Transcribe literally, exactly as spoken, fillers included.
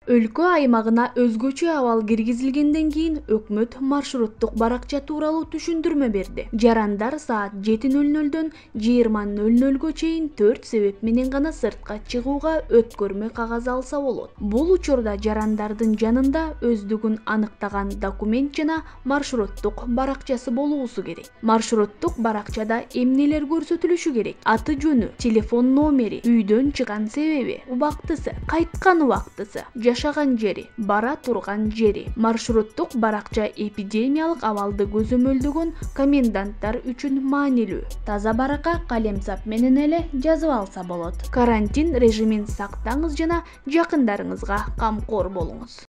Өлкө аймагына өзгөчө абал киргизилгенден кийин өкмөт маршруттук баракча тууралуу түшүндүрмө берди. Жарандар саат жети ноль нолдон жыйырма ноль нольго чейин төрт себеп менен гана сыртка чыгууга өткөрмө кагаз алса болот. Бул учурда жарандардын жанында өздүгүн аныктаган документ жана маршруттук баракчасы болуусу керек. Маршруттук баракчада эмнелер көрсөтүлүшү керек? Аты жөнү, телефон номери, үйдөн чыган себеби, убактысы, кайткан убактысы, жашаган жери, бара турган жери. Маршруттук баракча эпидемиялык абалды көзөмөлдөгөн коменданттар үчүн маанилүү. Таза баракка калемсап менен эле жазып алса болот. Карантин режимин сактаңыз жана жакындарыңызга камкор болуңуз.